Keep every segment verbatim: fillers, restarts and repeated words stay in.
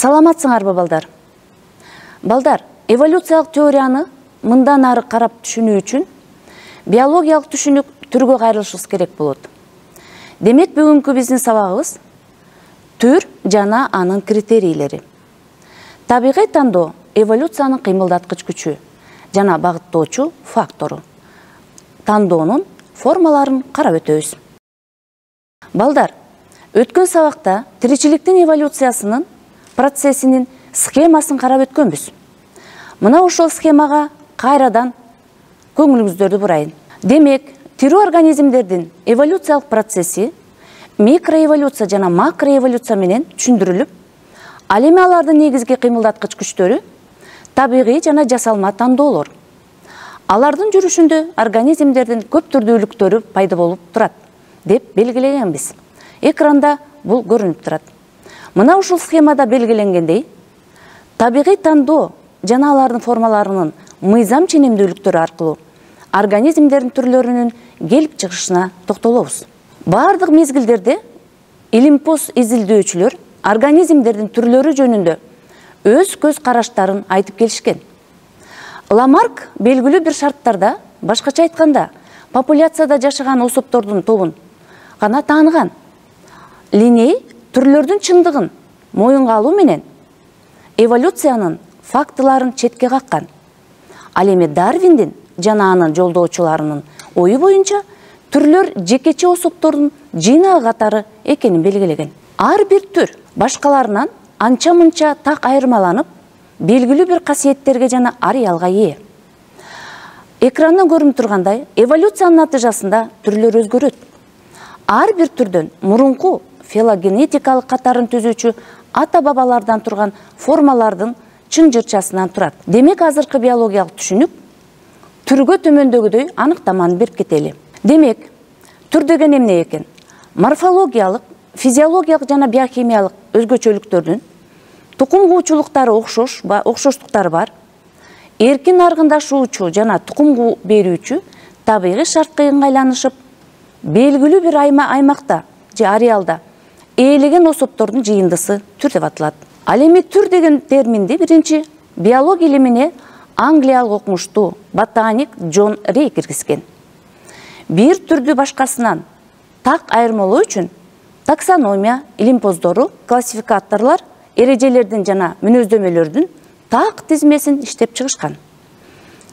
Саламатсыңарбы балдар? Балдар, эволюциялык теорияны мындан ары карап түшүнүү үчүн биологиялык түшүнүк түргө кайрылышыбыз керек болот. Демек, бүгүнкү биздин сабагыбыз түр жана анын критерийлери. Табигый тандоо эволюциянын кыймылдаткыч күчү жана багыттоочу фактору. Тандоонун формаларын карап өтөбүз. Балдар, өткөн сабакта тиричиликтин эволюциясынын процессинин схемасын карап өткөнбүз. Мына ошол схемага кайрадан көңүлүңүздөрдү бурайын. Демек, тирүү организмдердин эволюциялык процесси микроэволюция жана макроэволюция менен түшүндүрүлүп, ал эми алардын негизги кыймылдаткыч күчтөрү табигый жана жасалма тандоолор. Алардын жүрүшүндө организмдердин көп түрдүүлүктөрү пайда болуп турат деп белгилегенбиз. Экранда бул көрүнүп турат. Мына ушул схемада белгиленгендей, табигый тандоо жана алардын формаларынын мыйзам ченемдүүлүктөрү аркылуу организмдердин түрлөрүнүн келип чыгышына токтолобуз. Бардык мезгилдерде илимпоз изилдөөчүлөр организмдердин түрлөрү жөнүндө өз көз караштарын айтып келишкен. Ламарк белгилүү бир шарттарда, башкача айтканда, популяцияда жашаган особтордун тобун гана тааныган. Линней түрлөрдүн чындыгын моюнга алуу менен эволюциянын фактыларын четке каккан. Ал эми Дарвиндин жана анын жолдоочуларынын ою боюнча түрлөр жекече особтордун жыйнагы катары экенин белгилеген. Ар бир түр башкаларынан анча-мынча так айырмаланып, белгилүү бир касиеттерге жана ареалга ээ. Экрандан көрүнүп тургандай, эволюциянын натыйжасында түрлөр өзгөрөт. Ар бир түрдөн мурунку филогенетикалык катарын түзүүчү ата-бабалардан турган формалардын чын жырчасынан турат. Демек, азыркы биологиялык түшүнүк түргө төмөндөгүдөй аныктаманы берип кетели. Демек, түр деген эмне экен? Морфологиялык, физиологиялык жана биохимиялык өзгөчөлүктөрдүн тукум куучулуктары окшош, окшоштуктары бар, эркин аргындашуучу жана тукум берүүчү табигый шартка ыңгайланышып, белгилүү бир аймакта же ареалда ээлеген особтордун жыйындысы түр деп аталат. Ал эми түр деген терминди биринчи биология илимине англиялык окумуштуу ботаник Джон Рей киргизген. Бир түрдү башкасынан так айырмалоо үчүн таксономия илимпоздору, классификаторлор, эрежелердин жана мүнөздөмөлөрдүн так тизмесин иштеп чыгышкан.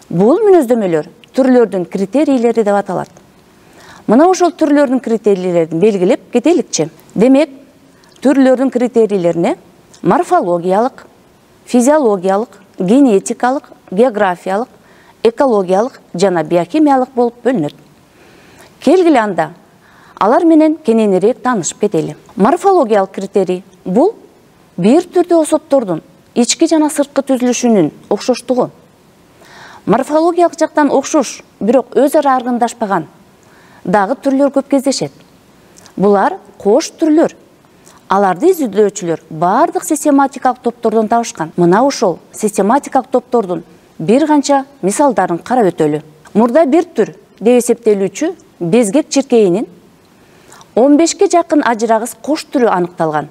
Бул мүнөздөмөлөр түрлөрдүн критерийлери деп аталат. Мына ошол түрлөрдүн критерийлерин белгилеп кетеликчи. Демек, түрлөрдүн критерийлерине морфологиялык, физиологиялык, генетикалык, географиялык, экологиялык жана биохимиялык болуп бөлүнөт. Келгиле анда алар менен кененирээк таанышып кетели. Морфологиялык критерий бул бир түрдүү особтордун ички жана сырткы түзүлүшүнүн окшоштугу. Морфологиялык жактан окшош, бирок өз ара аргындашпаган дагы түрлөр көп кездешет. Булар кош түрлөр. Аларды изилдөөчүлөр бардык систематикалык топтордон табышкан. Мына ошол систематикалык топтордун бир канча мисалдарын карап өтөлү. Мурда бир түр деп эсептелүүчү безгек чиркейинин он бешке жакын ажырагыс кош түрү аныкталган.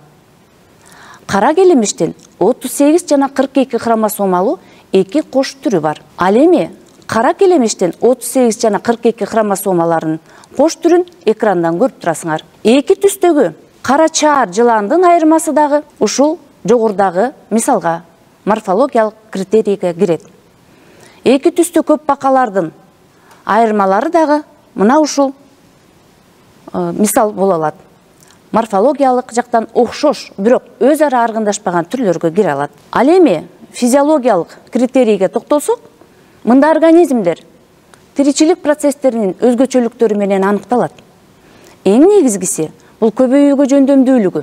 Кара келемиштин отуз сегиз жана кырк эки хромосомалуу эки кош түрү бар. Ал эми кара келемиштин отуз сегиз жана кырк эки хромосомаларынын кош түрүн экрандан көрүп турасыңар. Эки түстөгү кара чаар жыландын айырмасы дагы ушул жогорудагы мисалга морфологиялык критерийге кирет. Эки түстүү көп бакалардын айырмалары дагы мына ушул мисал боло алат. Морфологиялык жактан окшош, бирок өз ара аргындашпаган түрлөргө кире алат. Ал эми физиологиялык критерийге токтолсок, мында организмдер тиричилик процесстеринин өзгөчөлүктөрү менен аныкталат. Эң негизгиси бул көбөйүүгө жөндөмдүүлүгү.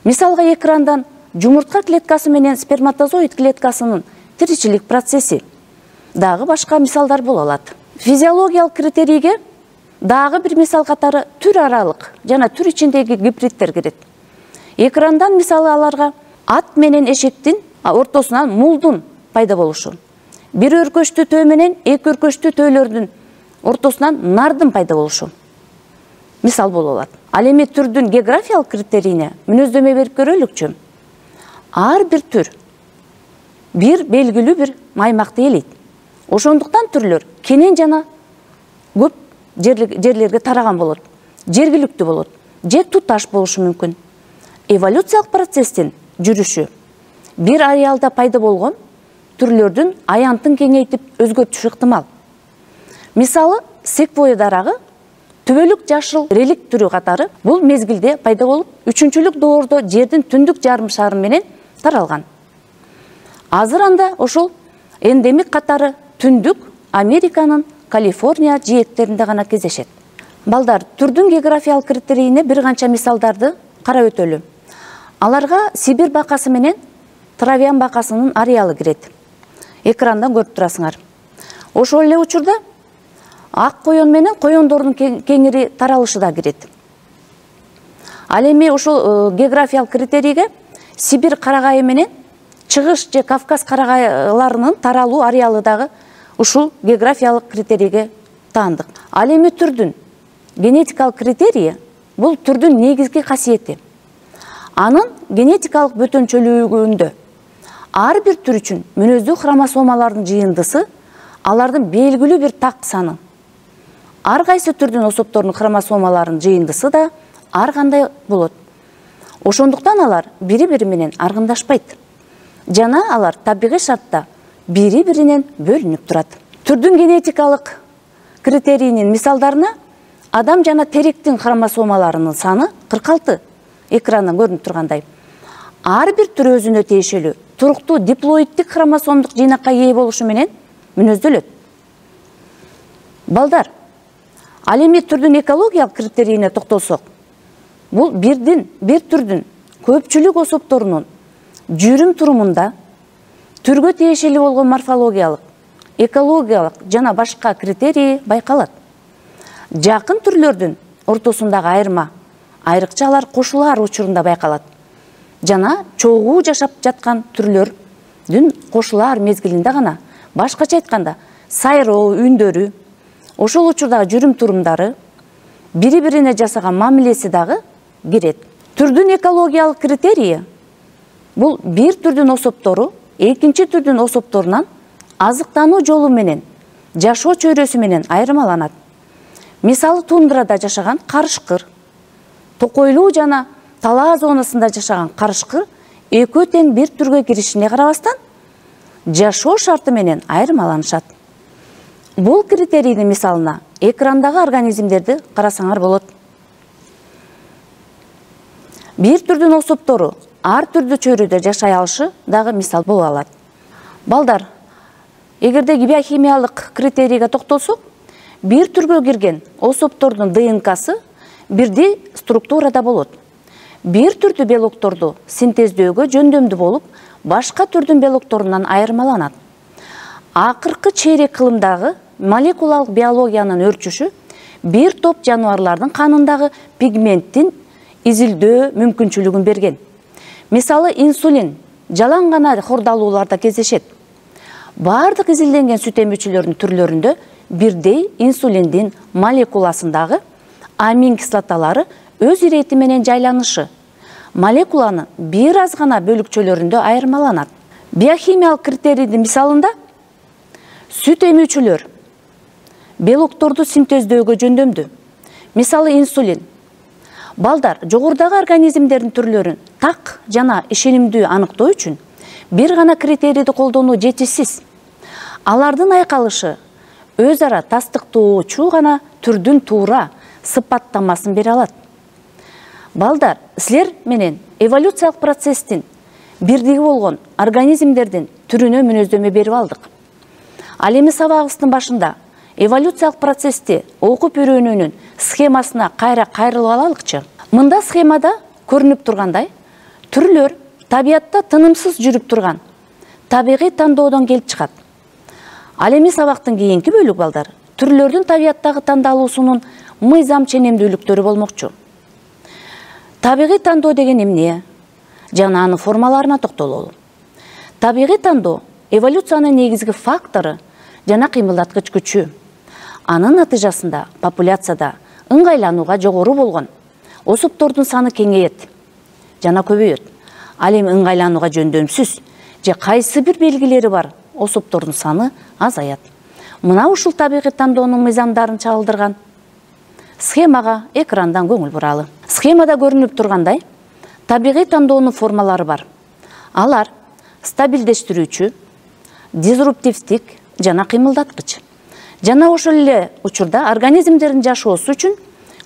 Мисалга, экрандан жумуртка клеткасы менен сперматозоид клеткасынын тиричилик процесси. Дагы башка мисалдар боло алат. Физиологиялык критерийге дагы бир мисал катары түр аралык жана түр ичиндеги гибридтер кирет. Экрандан мисалы аларга ат менен эшектин ортосунан мулдун пайда болушу. Бир өркөчтүү төө менен эки өркөчтүү төөлөрдүн ортосунан нардын пайда болушу мисал боло алат. Ал эми түрдүн географиялык критерийине мүнөздөмө берип көрөлүкчү. ар бир түр бир белгилүү бир аймакты ээлейт. Ошондуктан түрлөр кенен жана көп жерлерге тараган болот, жергиликтүү болот же туташ болушу мүмкүн. Эволюциялык процесстин жүрүшү бир ареалда пайда болгон түрлөрдүн аянтын кеңейтип өзгөртүшү ыктымал. Мисалы, секвойя дарагы түбөлүк жашыл реликт түрү катары бул мезгилде пайда болуп, үчүнчүлүк доордо жердин түндүк жарым шары менен таралган. Азыр анда ошол эндемик катары түндүк Американын Калифорния жээктеринде гана кездешет. Балдар, түрдүн географиялык критерийине бир канча мисалдарды карап өтөлү. Аларга Сибирь бакасы менен Травян бакасынын ареалы кирет. Экрандан көрүп турасыңар. Ошол эле учурда ак коён менен коёндордун кеңири таралышы да кирет. Ал эми ошол географиялык критерийге Сибирь карагайы менен Чыгыш же Кавказ карагайларынын таралуу ареалы дагы ушул географиялык критерийге таандык. Ал эми түрдүн генетикалык критерийи бул түрдүн негизги касиети. Анын генетикалык бөтөнчөлүгүндө ар бир түр үчүн мүнөздүү хромосомалардын жыйындысы, алардын белгилүү бир так саны. Ар кайсы түрдүн особторунун хромосомаларынын жыйындысы да ар кандай болот. Ошондуктан алар бири-бири менен аргындашпайт. Жана алар табигый шартта бири-биринен бөлүнүп турат. Түрдүн генетикалык критерийинин мисалдарына адам жана теректин хромосомаларынын саны кырк алты. Экрандан көрүнүп тургандай. Ар бир түр өзүнө тиешелүү туруктуу диплоидтик хромосомдук жыйнакка ээ болушу менен мүнөздөлөт. Балдар, ал эми түрдүн экологиялык критерийине токтолсок, бул бирдин, бир түрдүн көпчүлүк особторунун жүрүм турумунда түргө тиешелүү болгон морфологиялык, экологиялык жана башка критерии байкалат. Жакын түрлөрдүн ортосундагы айырма, айрыкча алар кошулар учурунда байкалат. Жана чогуу жашап жаткан түрлөрдүн кошулар мезгилинде гана, башкача айтканда, сайроо үндөрү, ошол учурдагы жүрүм турумдары, бири-бирине жасаган мамилеси дагы кирет. Түрдүн экологиялык критерийи бул бир түрдүн особтору экинчи түрдүн особторунан азыктануу жолу менен, жашоо чөйрөсү менен айырмаланат. Мисалы, тундрада жашаган карышкыр, токойлуу жана талаа зонасында жашаган карышкыр экөө тең бир түргө киришине карабастан, жашоо шарты менен айырмаланышат. Бул критерийдин мисалына экрандагы организмдерди карасаңар болот. Бир түрдүн особтору ар түрдүү чөйрөдө жашай алышы дагы мисал боло алат. Балдар, эгерде биохимиялык критерийге токтолсок, бир түргө кирген особтордун ДНКсы бирдей структурада болот. Бир түрдүү белокторду синтездөөгө жөндөмдүү болуп, башка түрдүн белокторунан айырмаланат. Акыркы чейрек кылымдагы молекулалык биологиянын өрчүшү бир топ жаныбарлардын канындагы пигменттин изилдөө мүмкүнчүлүгүн берген. Мисалы, инсулин жалаң гана хордалууларда кездешет. Бардык изилденген сүт эмүүчүлөрдүн түрлөрүндө бирдей инсулиндин молекуласындагы амин кислоталары өз ирети менен жайланышы молекуланы бир аз гана бөлүкчөлөрүндө айырмаланат. Биохимиялык критерийдин мисалында сүт эмүүчүлөр белокторду синтездөөгө жөндөмдүү. Мисалы, инсулин. Балдар, жогорудагы организмдердин түрлөрүн так жана ишенимдүү аныктоо үчүн бир гана критерийди колдонуу жетишсиз. Алардын айкалышы өз ара тастыктоочу гана түрдүн туура сыпаттамасын бере алат. Балдар, силер менен эволюциялык процесстин бирдиги болгон организмдердин түрүнө мүнөздөмө берип алдык. Ал эми сабагыбыздын башында эволюциялык процессти окуп үйрөнүүнүн схемасына кайра кайрылып алалыкчы. Мында схемада көрүнүп тургандай, түрлөр табиятта тынымсыз жүрүп турган табигый тандоодон келип чыгат. Ал эми сабактын кийинки бөлүгү, балдар, түрлөрдүн табияттагы тандалуусунун мыйзам ченемдүүлүктөрү болмокчу. Табигый тандоо деген эмне? Жана анын формаларына токтололу. Табигый тандоо эволюциянын негизги фактору жана кыймылдаткыч күчү. Анын натыйжасында популяцияда ыңгайланууга жогору болгон особтордун саны кеңейет жана көбөйөт. Ал эми ыңгайланууга жөндөмсүз же кайсы бир белгилери бар особдордун саны азаят. Мына ушул табигый тандоонун мыйзамдарын чагылдырган схемага экрандан көңүл буралы. Схемада көрүнүп тургандай, табигый тандоонун формалары бар. Алар стабилдештирүүчү, дизруптивдик жана кыймылдаткыч. Жана ошол эле учурда организмдердин жашоосу үчүн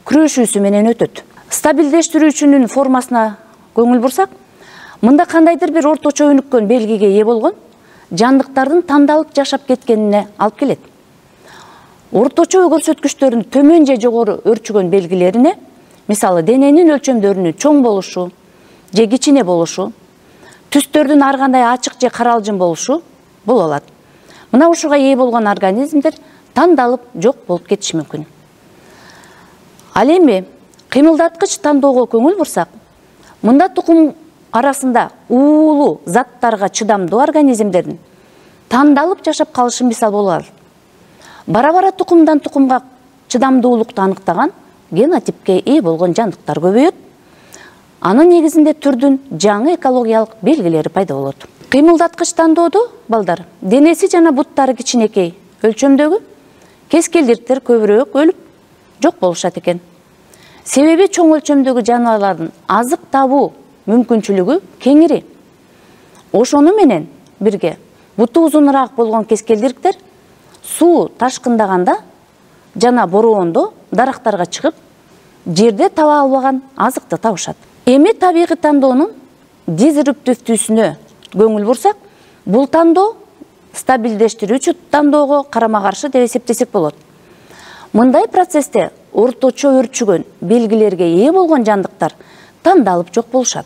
күрөшүүсү менен өтөт. Стабилдештирүүчүнүн формасына көңүл бурсак, мында кандайдыр бир орточо өнүккөн белгиге ээ болгон жандыктардын тандалып жашап кеткенине алып келет. Орточо көрсөткүчтөрдүн төмөн же жогору өрчүгөн белгилерине, мисалы дененин өлчөмдөрүнүн чоң болушу же кичине болушу, түстөрдүн ар кандай ачык же каралжың болушу боло алат. Мына ушуга ээ болгон организмдер тандалып жок болуп кетиши мүмкүн. Ал эми кыймылдаткыч тандоого көңүл бурсак, мында тукум арасында уулуу заттарга чыдамдуу организмдердин тандалып жашап калышы мисал боло алат. Бара-бара тукумдан тукумга чыдамдуулукту аныктаган генотипке ээ болгон жандыктар көбөйөт. Анын негизинде түрдүн жаңы экологиялык белгилери пайда болот. Кыймылдаткыч тандоодо балдар денеси жана буттары кичинекей өлчөмдөгү кескелдиктер көбүрөөк өлүп жок болушат экен. Себеби чоң өлчөмдөгү жаныбарлардын азык табуу мүмкүнчүлүгү кеңири. Ошону менен бирге буту узунураак болгон кескелдиктер суу ташкындаганда жана бороондо дарактарга чыгып, жерде таба албаган азыкты табышат. Эми табигый тандоонун дизруптивдүүсүнө көңүл бурсак, бул тандоо стабилдештирүүчү тандоого карама-каршы деп эсептесек болот. Мындай процессте орточо өрчүгөн белгилерге ээ болгон жандыктар тандалып жок болушат.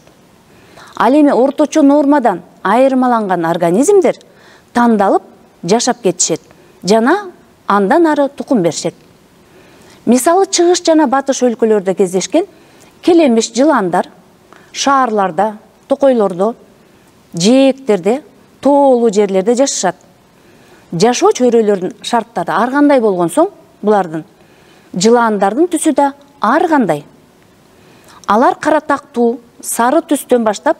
Ал эми орточо нормадан айырмаланган организмдер тандалып жашап кетишет жана андан ары тукум беришет. Мисалы чыгыш жана батыш өлкөлөрдө кездешкен келемиш жыландар шаарларда, токойлордо, жээктерде, тоолуу жерлерде жашашат. Жашоо чөйрөлөрүнүн шарттары ар кандай болгон соң, булардын жыландардын түсү да ар кандай. Алар кара тактуу, сары түстөн баштап,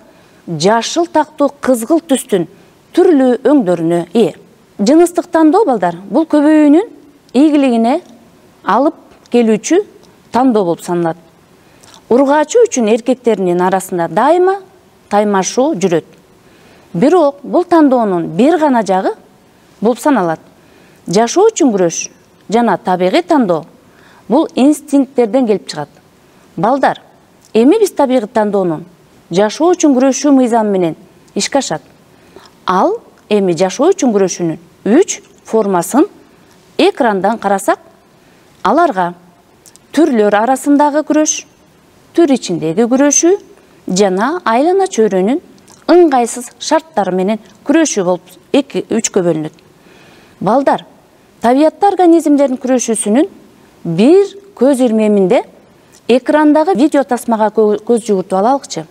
жашыл тактуу, кызгыл түстүн түрлүү өңдөрүнө ээ. Жыныстык тандоо балдар бул көбөйүүнүн ийгилигине алып келүүчү тандоо болуп саналат. Ургаачы үчүн эркектердин арасында дайыма таймашуу жүрөт. Бирок бул тандоонун бир гана жагы болуп саналат. Жашоо үчүн күрөш жана табигый тандоо бул инстинкттерден келип чыгат. Балдар, эми биз табигый тандоонун жашоо үчүн күрөшүү мыйзамы менен ишке ашат. Ал эми жашоо үчүн күрөшүүнүн үч формасын экрандан карасак, аларга түрлөр арасындагы күрөш, түр ичиндеги күрөшүү жана айлана чөйрөнүн ыңгайсыз шарттары менен күрөшүү болуп эки үчкө бөлүнөт. Балдар, табиятта организмдердин күрөшүүсүнүн бир көз ирмеминде экрандагы видео тасмага көз жугуртуп алалыкчы.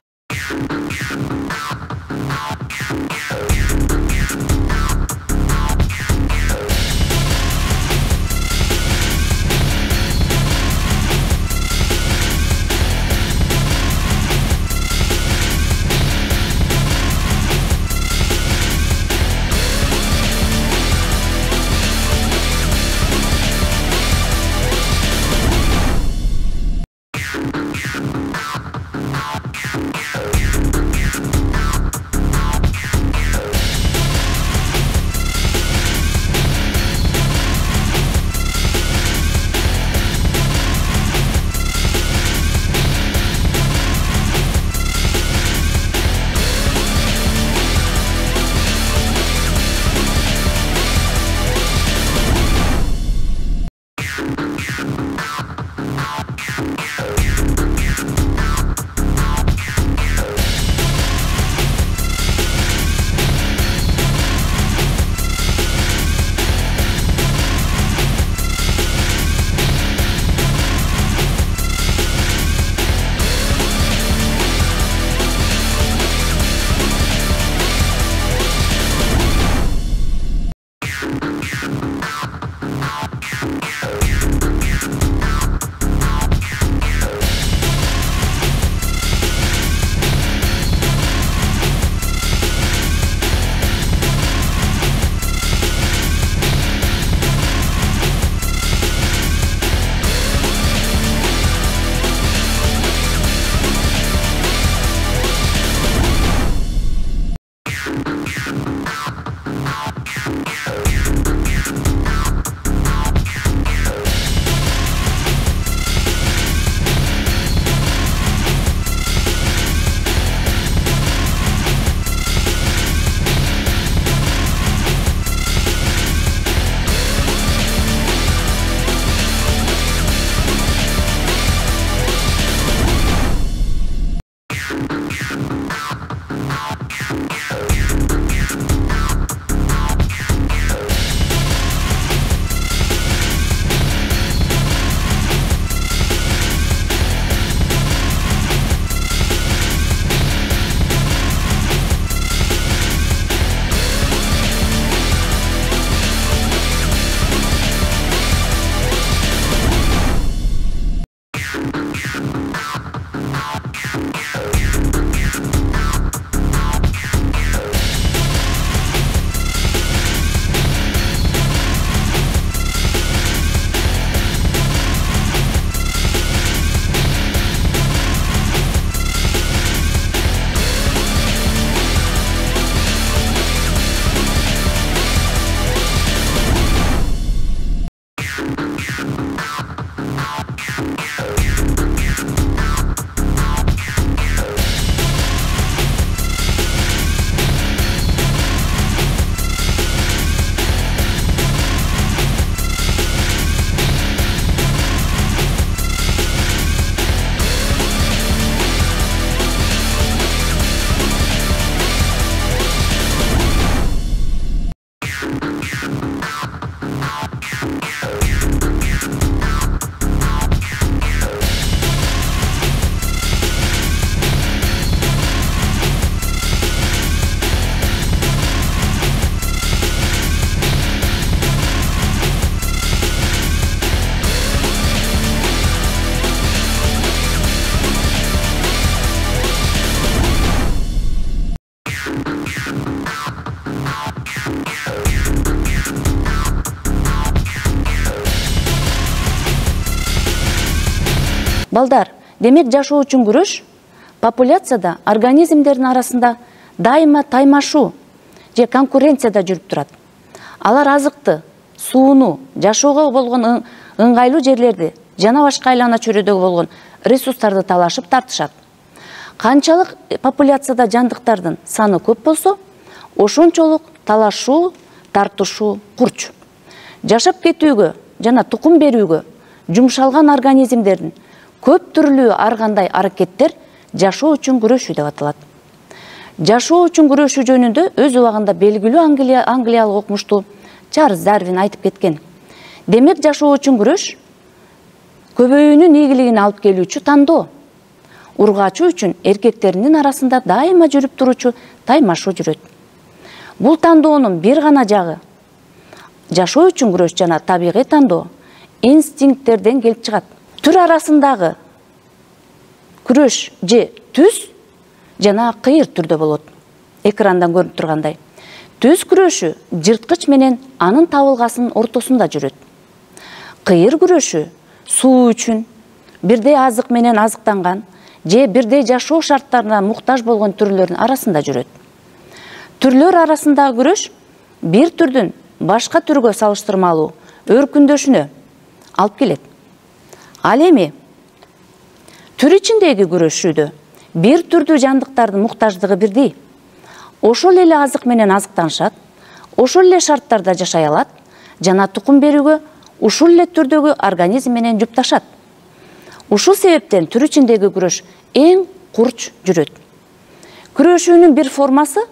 Балдар, демек жашоо үчүн күрөш популяцияда организмдердин арасында дайыма таймашуу же конкуренцияда жүрүп турат. Алар азыкты, сууну, жашоого болгон ыңгайлуу жерлерди жана башка айлана чөйрөдөгү болгон ресурстарды талашып тартышат. Канчалык популяцияда жандыктардын саны көп болсо, ошончолук талашуу, тартышуу курч. Жашап кетүүгө жана тукум берүүгө жумшалган организмдердин көп түрлүү ар кандай аракеттер жашоо үчүн күрөшүү деп аталат. Жашоо үчүн күрөшүү жөнүндө өз убагында белгилүү англиялык окумуштуу Чарльз Дарвин айтып кеткен. Демек жашоо үчүн күрөш көбөйүүнүн ийгилигин алып келүүчү тандоо. Ургаачуу үчүн эркектердин арасында дайыма жүрүп туручу таймашуу жүрөт. Бул тандоонун бир гана жагы жашоо үчүн күрөш жана табигый тандоо инстинкттерден келип чыгат. Түр арасындагы күрөш же түз жана кыйыр түрдө болот. Экрандан көрүнүп тургандай. Түз күрөшү жырткыч менен анын табылгасынын ортосунда жүрөт. Кыйыр күрөшү суу үчүн бирдей азык менен азыктанган же бирдей жашоо шарттарына муктаж болгон түрлөрдүн арасында жүрөт. Түрлөр арасындагы күрөш бир түрдүн башка түргө салыштырмалуу өркүндөшүнө алып келет. Ал эми түр ичиндеги күрөшүүдө бир түрдүү жандыктардын муктаждыгы бирдей. Ошол эле азык менен азыктанышат, ошол эле шарттарда жашай алат жана тукум берүүгө ушул эле түрдөгү организм менен жупташат. Ушул себептен түр ичиндеги күрөш эң курч жүрөт. Күрөшүүнүн бир формасы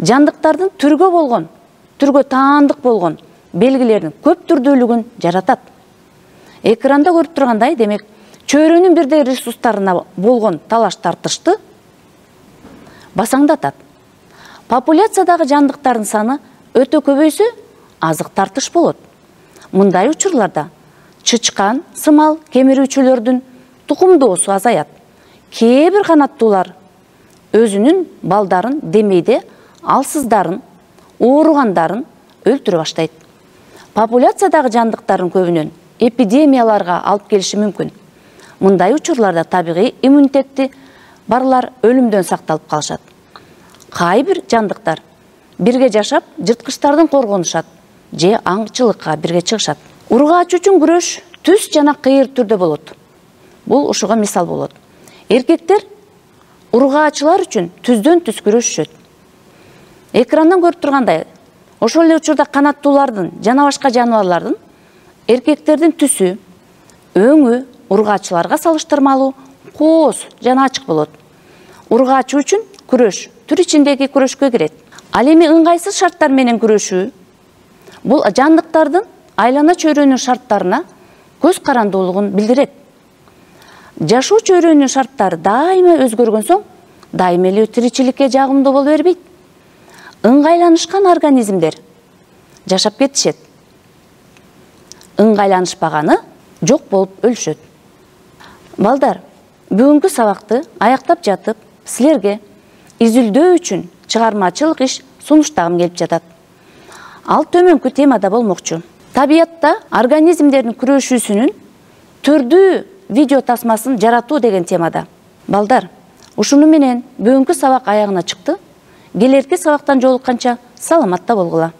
жандыктардын түргө болгон, түргө таандык болгон белгилердин көп түрдүүлүгүн жаратат. Экранда көрүп тургандай, демек, чөйрөнүн бирдей ресурстарына болгон талаш тартышты басаңдатат. Популяциядагы жандыктардын саны өтө көбөйсө, азык тартыш болот. Мындай учурларда чычкан, сымал, кемирүүчүлөрдүн тукумдоосу азаят. Кээ бир канаттуулар өзүнүн балдарын демейде алсыздарын, ооругандарын өлтүрө баштайт. Популяциядагы жандыктардын көбүнөн эпидемияларга алып келиши мүмкүн. Мындай учурларда табигый иммунитети барлар өлүмдөн сакталып калышат. Кайбир жандыктар бирге жашап, жырткычтардан коргонушат же аңчылыкка бирге чыгышат. Ургаачуу үчүн күрөш түз жана кыйыр түрдө болот. Бул ушуга мисал болот. Эркектер ургаачылар үчүн түздөн түз күрөшүшөт. Экрандан көрүп тургандай, ошол эле учурда канаттуулардын жана башка жаныбарлардын эркектердин түсү, өңү ургаачыларга салыштырмалуу кооз жана ачык болот. Ургаачуу үчүн күрөш түр ичиндеги күрөшкө кирет. Ал эми ыңгайсыз шарттар менен күрөшүү бул жандыктардын айлана чөйрөнүн шарттарына көз карандуулугун билдирет. Жашоо чөйрөнүн шарттары дайыма өзгөргөн соң, дайыма эле тиричиликке жагымдуу боло бербейт. Ыңгайланышкан организмдер жашап кетишет. Ыңгайланышпаганы жок болуп өлүшөт. Балдар, бүгүнкү сабакты аяктап жатып, силерге изилдөө үчүн чыгармачылык иш сунуштагым келип жатат. Ал төмөнкү темада болмокчу. Табиятта организмдердин күрөшүүсүнүн түрдүү видео тасмасын жаратуу деген темада. Балдар, ушуну менен бүгүнкү сабак аягына чыкты. Келерки сабактан жолукканча саламатта болгула.